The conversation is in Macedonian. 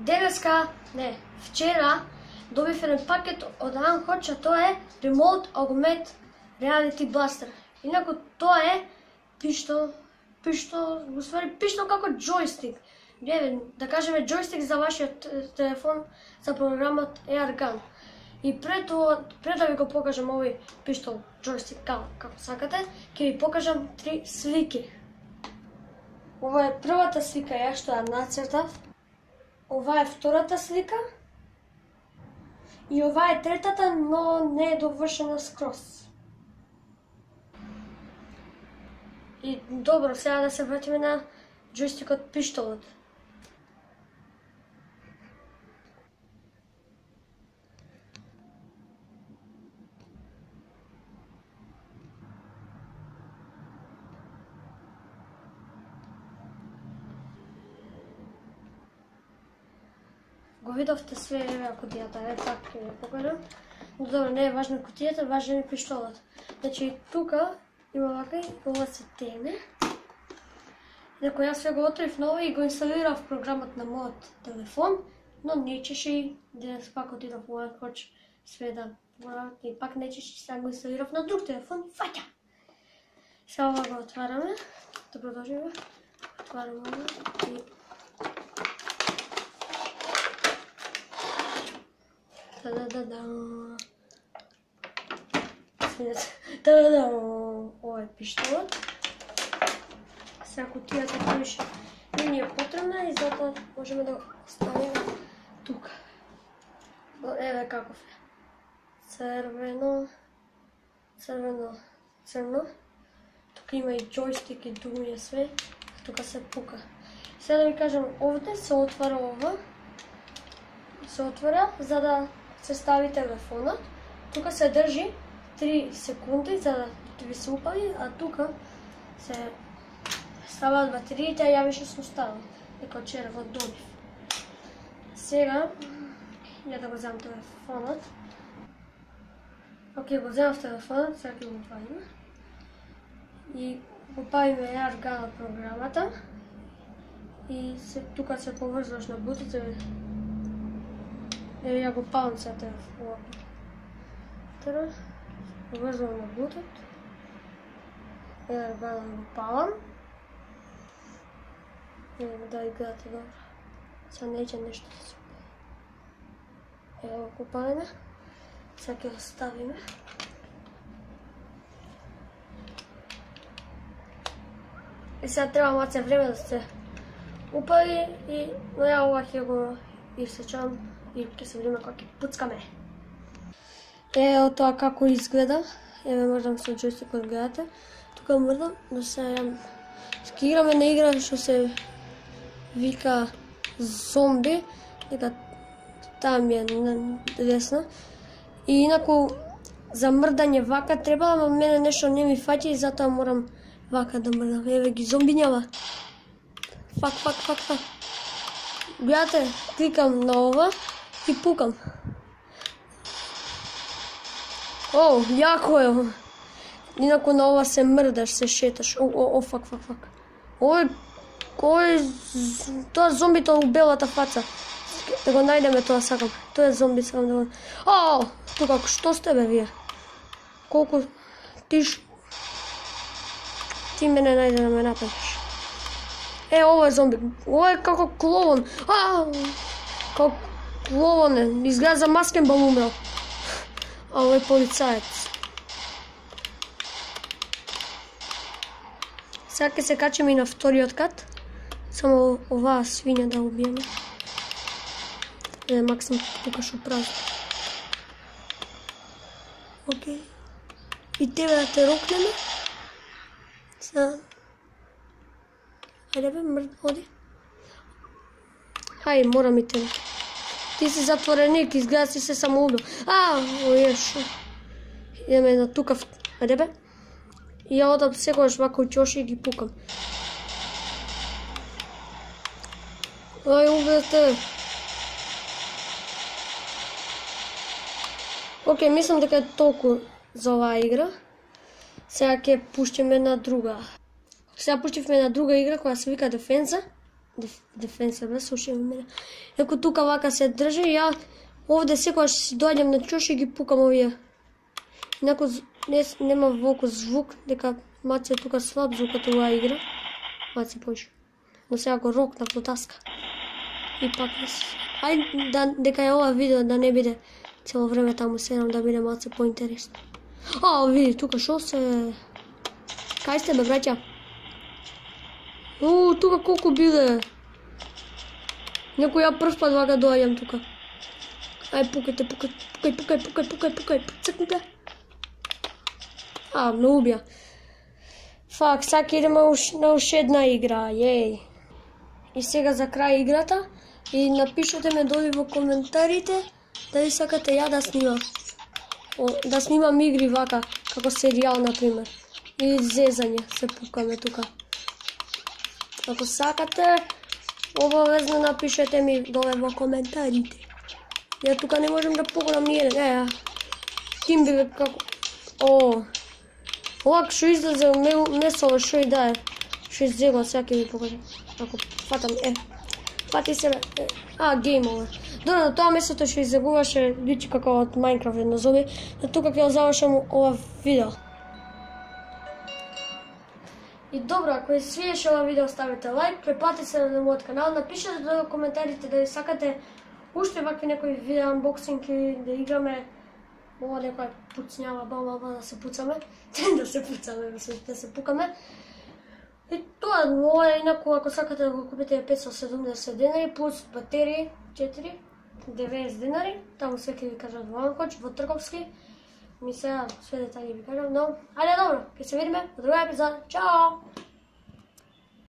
Денеска, не, вчера добив еден пакет од Анхоч, а тоа е Remote Augmented Reality Blaster. Инаку тоа е пиштол како джойстик. Да кажеме джойстик за вашиот телефон за програмот AirGun. И пред да ви го покажам овој пиштол джойстик како сакате, ќе ви покажам 3 слики. Ова е првата слика ја што ја нацртав. Ова е втората слика. И ова е третата, но не е довршена скроз. И добро, сега да се вратиме на джойстикот пиштолот. Го видовте све, еве кутијата, така ќе ја покажам. Но добро, не е важна кутијата, важен е пиштолот. Значи, тука има вака и ова се тене. Инаку јас све го отворив ново и го инсталирав програмот на мојот телефон, но нечеше и денес пак отидов во Анхоч све да поравам и пак нечеше, сега го инсталирав на друг телефон и фаќа. Сега ова го отвараме, да продолжиме. Отвараме ова и ова е пиштолот. Сега кутијата повише не ни е потребна и затоа можеме да го ставиме тука. Еве каков е. Црвено. Тука има и джойстик и думи све. Тука се пука. Сега да ви кажам, овде се отвара ова. Се отвара за да се стави телефонот. Тука се држи 3 секунди за да ви се упали, а тука се ставаат батериите, ја више сум ставил. Дека вчера го добив. Сега, ја да го земам телефонот. Океј, го земав телефонот, сега ќе го павиме. И го павиме AirGun програмата. И тука се поврзваш на бутите. Еве ја го павам сега телефонот. Поврзвам на бутот. AirGun го павам. Еве да гледате добро. Сега неќе нешто да се упали. Ево го паваме. Сега ќе го ставиме. И сега треба малце време да се упали, но ја ова ќе го исечам и ќе се видиме кога ќе пуцкаме. Ево тоа како изгледа. Еве мрдам со джойстикот, гледате. Тука мрдам, но сега ќе играме на игра што се вика зомби, дека там е десна. И инаку за мрдање вака треба, ама мене нешто не ми фаќа и затоа морам вака да мрдам. Еве ги зомбињава. Фак. Гледате, кликам на ова и пукам. О, јако е. Инаку на ова се мрдаш, се шеташ. Фак. Тоа зомбито у белата фаца. Да го најдеме тоа сакам. Тоа е зомби, сакам да го... тука, што сте бе вие? Колку... Ти мене најде да ме нападеш. Ова е зомби. Ова е како кловон. Како кловон е. Изгледа за маскен бал умрел. А ова е полицаец. Сега ќе се качиме и на вториот кат. Само оваа свиња да убиеме. Максим тука шо прави. Океј. И тебе да те рокнеме. Сега. Хајде бе, мрд, оди. Хај, морам и тебе. Ти си затвореник, изгледа си се самоубил. Ојеш. Идеме на тука. Хајде бе. И ја одам секогаш вака учоши и ги пукам. Убете. Океј, мислам дека е толку за оваа игра. Сега ќе пуштиме на друга. Сега пуштивме на друга игра која се вика Дефенза. дефенса бе, слушај мене. Еко тука вака се држи, ја овде секогаш си доаѓам на чош и ги пукам овие. Инако нема волку звук, дека Маце тука слаб звукот оваа игра. Маце појше. Но сега го рокнав до таска. И пак ајде дека е ова видео да не биде цело време таму седам, да биде малце поинтересно. Види тука шо се... Кај сте бе, браќа? Тука колку биле. Некој ја прв пат вака доаѓам тука. Ај пукајте, пукај, цркнете. Ме убија. Фак, сака идеме на уште една игра, јеј. И сега за крај играта, и напишете ме доли во коментарите дали сакате ја да снимам. Да снимам игри вака, како серијал, например. Или зезање, се пукаме тука. Ако сакате, обавезно напишете ми доле во коментарите. Ја тука не можем да погонам ни еден, тим биве како... Овак шо излезе месово шо и да е. Шо иззего, сега ќе ви покажам. Ако фатам, фати се бе. Game over. Добро, тоа месото што иззегуваше личи како од Minecraft едно зоби. Тука ќе завршам ова видео. И добро, ако ви свиеше ова видео, ставите лайк, препатете се на мојот канал, напишете во коментарите дали сакате уште вакви некои видео анбоксинг или да играме ова некоја пуцњава баба да се пуцаме, да се пуцаме, да се пукаме. И тоа, ова е инаку, ако сакате да го купите 570 денари, плюс батерии 4, 90 денари, таму се ќе ви кажат во Анкоч, во Трговски. Ми сега све детали ви кажам, но, ајде добро, ќе се видиме во друга епизода. Чао!